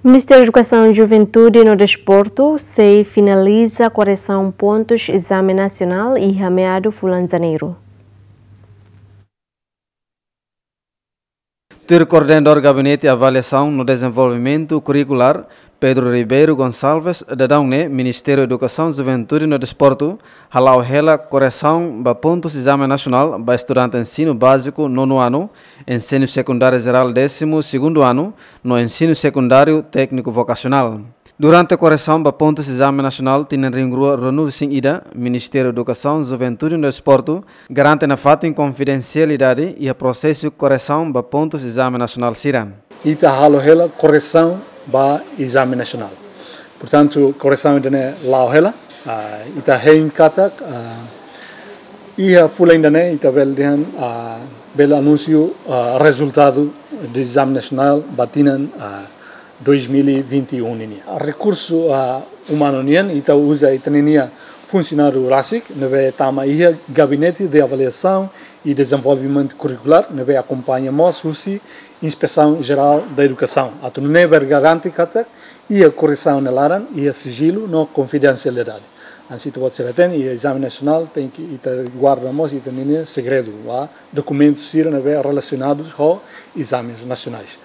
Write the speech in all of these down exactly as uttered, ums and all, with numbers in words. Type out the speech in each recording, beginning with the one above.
Ministériu Edukasaun, Juventude no Desportu sei finaliza korresaun pontus ezame nasionál iha meadu fulan Janeiru. Tuir Koordenadór Gabinete Avaliasaun no Dezenvolvimentu Kurrikulár, Pedro Ribeiro Gonçalves, daudaun ne'e Ministériu Edukasaun, Juventude no Desportu hala'o hela korresaun ba pontus ezame nasionál ba estudante ensinu báziku nono anu, ensinu sekundáriu jerál désimu segundu anu, no ensinu sekundáriu tékniku vokasionál. Durante korresaun ba pontus ezame nasionál tinan rihun rua ruanulu-resin-ida, Ministériu Edukasaun, Juventude no Desportu garante nafatin konfidensialidade iha prosesu korresaun ba pontus ezame nasionál sira. Ita halo hela korresaun ba ezame nasionál. Portantu, korresaun ida-ne'e la'o hela, ah, ita hein katak, ah, iha fulan ida-ne'e ita bele dehan, ah, bele anunsiu, ah, rezultadu de ezame nasionál ba tinan, ah, dois mil e vinte e um nian. Rekursu, ah, umanu nian, ita uza ita-nia funsionáriu rasik ne'ebé tama iha Gabinete de Avaliação e Desenvolvimento Curricular, ne'ebé akompaña mós husi Inspeção Geral da Educação. Atu nune'e bele garante katak iha korresaun nia laran iha sijilu no konfidensialidade. Hanesan ita-boot sira hatene, iha ezame nasionál tenke ita guarda mós ita-nia segredu, ba dokumentu sira ne'ebé relasionadus ho ezames nasionais.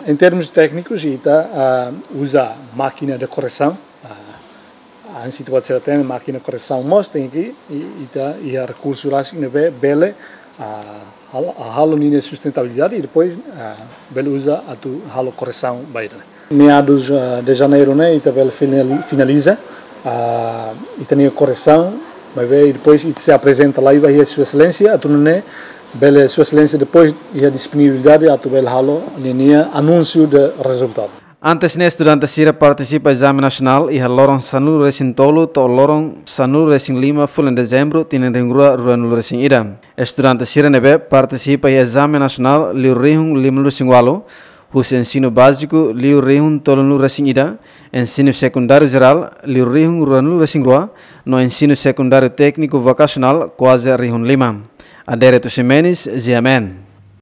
Em termos técnicos, ita, ah, uza mákina de korresaun, ah, hanesan ita-boot sira hatene, mákina korresaun mós tenke, i, ita iha rekursu rasik ne'ebé bele, ah, halo, halo ninia sustentabilidade i depois, ah, bele uza atu halo korresaun ba ida-ne'e. Meados, ah, de Janeiru ne'e ita bele finali-, finaliza, ah, ita-nia korresaun, maibé depois ita sei aprezenta lai ba iha Sua Exelénsia, atu nune'e bele Sua Exelénsia depois iha disponibilidade atu bele halo ninia anúnsiu de rezultadu. Antes ne'e, estudante sira partisipa ezame nasionál iha loron sanulu-resin-tolu to'o loron sanulu-resin-lima fulan Dezembru tinan rihun rua ruanulu-resin-ida. Estudante sira ne'ebé partisipa iha ezame nasionál liu rihun limanulu-resin-ualu, husi ensinu báziku liu rihun tolunulu-resin-ida, ensinu sekundáriu jerál liu rihun ruanulu-resin-rua, no ensinu sekundáriu tékniku vokasionál kuaze rihun lima. Adérito Ximenes, G M N.